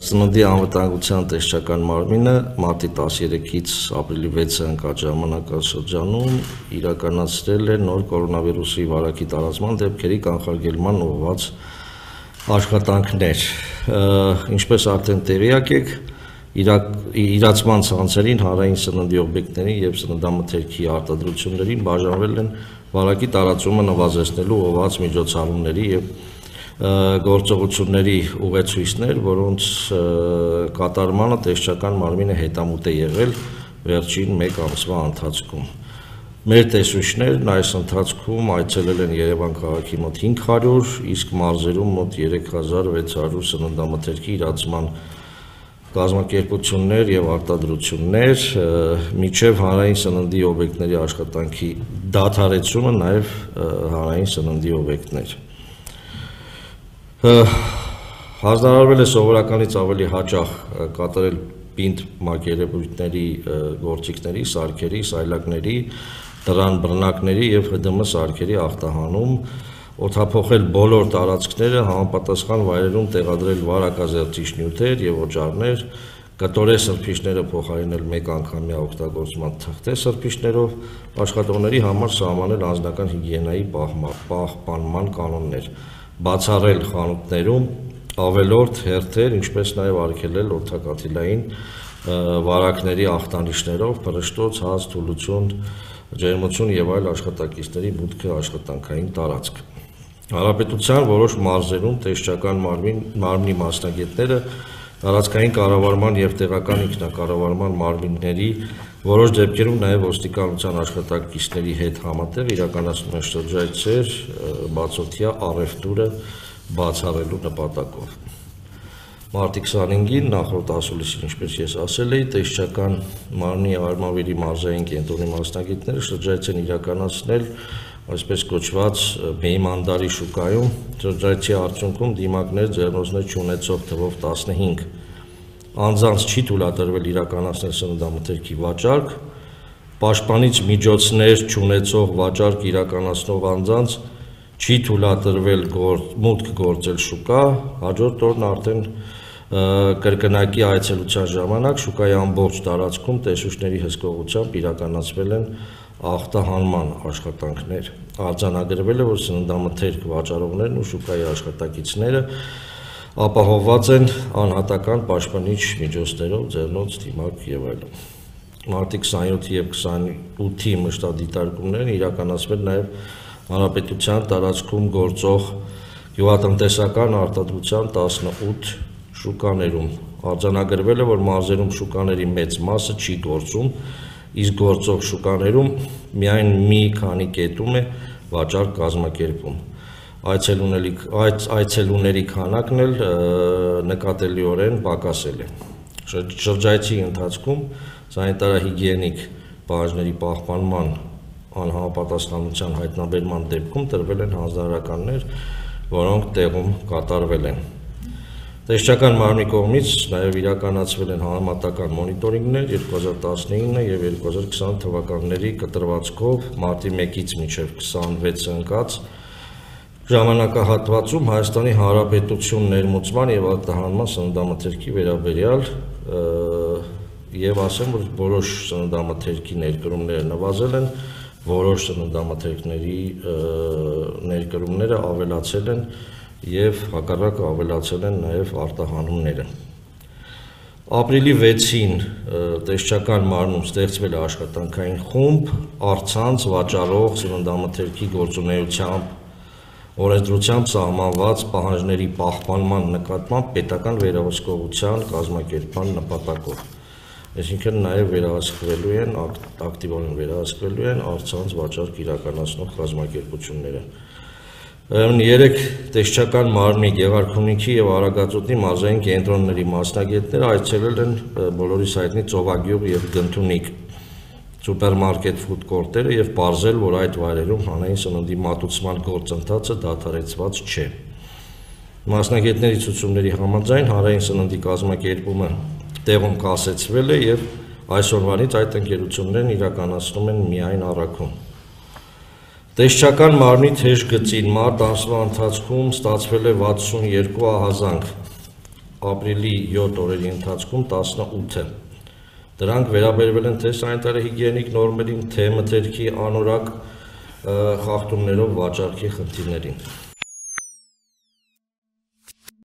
Սննդի անվտանգության տեսչական մարմինը մարտի 13-ից ապրիլի 6-ը ընկած ժամանակաշրջանում իրականացրել է նոր կորոնավիրուսի վարակի տարածման դեպքերի կանխարգելման ուղղված աշխատանքներ։ Ինչպես արդեն տեղյակ եք, իրացման ցանցերին, հանրային սննդի օբյեկտներին եւ սննդամթերքի արտադրություններին բաժանվել են վարակի տարածումը նվազեցնելու ուղղված միջոցառումների եւ գործողությունների ուղեցույցներ, որոնց կատարմանը տեսչական մարմինը հետամուտ է եղել վերջին 1 ամսվա ընթացքում։ Մեր տեսուչներն այս ընթացքում այցելել են Երևան քաղաքի մոտ 500, իսկ մարզերում մոտ 3600 սննդամթերքի իրացման կազմակերպություններ եւ արտադրություններ, միջև հանրային սննդի օբյեկտների աշխատանքի դադարեցումը նաեւ հանրային սննդի օբյեկտներ։ Հանձնարարվել է սովորականից ավելի հաճախ կատարել պինդ մակերևույթների գործիքների, սարքերի, սայլակների, դռան բռնակների եւ ՀԴՄ սարքերի ախտահանում, օդափոխել բոլոր տարածքները, համապատասխան վայրերում տեղադրել վարակազերծիչ նյութեր եւ օճառներ, կտորե սրբիչները փոխարինել 1 անգամյա օգտագործման թղթե սրբիչներով, աշխատողների համար սահմանել անձնական հիգիենայի պահպանման կանոններ, բացառել խանութներում ավելորդ հերթեր, ինչպես նաև արգելել օդակաթիլային վարակների ախտանիշներով փռշտոց, հաց, թուլություն, ջերմություն եւ այլ աշխատակիցների մուտքը աշխատանքային տարածք։ Հանրապետության որոշ մարզերում տեսչական մարմնի մասնագետները տարածքային կառավարման եւ տեղական ինքնակառավարման մարմինների որոշ դեպքերում նաեւ ոստիկանության աշխատակիցների հետ համատեղ իրականացնում են շրջայցեր բացօթյա առևտուրը բացառելու նպատակով։ Մարտի 25-ին նախորդ ասուլիսին, ինչպես ես ասել էի, տեսչական մարմնի Արմավիրի մարզային կենտրոնի մասնագետները շրջայց են իրականացնել այսպես կոչված Մեյմանդարի շուկայում, շրջայցի արդյունքում դիմակներ ձեռնոցներ չունեցող թվով 15 անձանց չի թույլատրվել իրականացնել սննդամթերքի վաճառք, պաշտպանիչ միջոցներ չունեցող վաճառք իրականացնող անձանց չի թույլատրվել մուտք գործել շուկա, հաջորդ օրն արդեն կրկնակի այցելության ժամանակ շուկայի ամբողջ տարածքում տեսուչների հսկողությամբ իրականացվել են ախտահանման աշխատանքներ, արձանագրվել է, որ սննդամթերք վաճառողներն ու շուկայի աշխատակիցները ապահովված են անհատական պաշտպանիչ միջոցներով, ձեռնոց, դիմակ եւ այլն։ Մարտի 27-ի եւ 28-ի մշտադիտարկումներն իրականացվել նաեւ հանրապետության տարածքում գործող գյուղատնտեսական արտադրության 18 շուկաներում, արձանագրվել է, որ մարզերում շուկաների մեծ մասը չի գործում, իսկ գործող շուկաներում միայն մի քանի կետում է վաճառք կազմակերպում։ Այցելուների քանակն էլ նկատելիորեն պակասել է։ Շրջայցի ընթացքում սանիտարահիգիենիկ պահանջների պահպանման անհամապատասխանության հայտնաբերման դեպքում տրվել են հանձնարարականներ, որոնք տեղում կատարվել են։ Տեսչական մարմնի կողմից նաև իրականացվել են համեմատական մոնիտորինգներ 2019 եւ 2020 թվականների կտրվածքով մարտի 1-ից մինչև 26 ընկած ժամանակահատվածում Հայաստանի Հանրապետություն ներմուծման եւ արտահանման սննդամթերքի վերաբերյալ եւ ասեմ, որ որոշ սննդամթերքի ներկրումները նվազել են, որոշ սննդամթերքների ներկրումները ավելացել են եւ հակառակը ավելացել են նաեւ արտահանումները։ Ապրիլի 6-ին տեսչական մարմնում ստեղծվել է աշխատանքային խումբ առցանց վաճառող սննդամթերքի գործունեությամբ օրենսդրությամբ սահմանված պահանջների պահպանման նկատմամբ պետական վերահսկողության կազմակերպման նպատակով։ Այսինքն նաև վերահսկվելու են, ակտիվորեն վերահսկվելու են առցանց վաճառք իրականացնող կազմակերպությունները։ 3 տեսչական մարմնի Գեղարքունիքի եւ Արագածոտնի մարզային կենտրոնների մասնագետները այցելել են բոլորիս հայտնի Ծովագյուղ եւ Գնթունիք սուպերմարկետ ֆուդ կորտերը եւ պարզել, որ այդ վայրերում հանրային սննդի մատուցման գործընթացը դադարեցված չէ։ Մասնագետների ցուցումների համաձայն հանրային սննդի կազմակերպումը տեղում կասեցվել է եւ այսօրվանից այդ ընկերություններն իրականացնում են միայն առաքում։ Տեսչական մարմնի թեժ գծին մարտ ամսվա ընթացքում ստացվել է 62 ահազանգ, ապրիլի 7 օրերի ընթացքում 18-ը։ Դրանք վերաբերվել են թե սանիտարահիգիենիկ նորմերին, թե մթերքի անորակ խախտումներով վաճառքի խնդիրներին։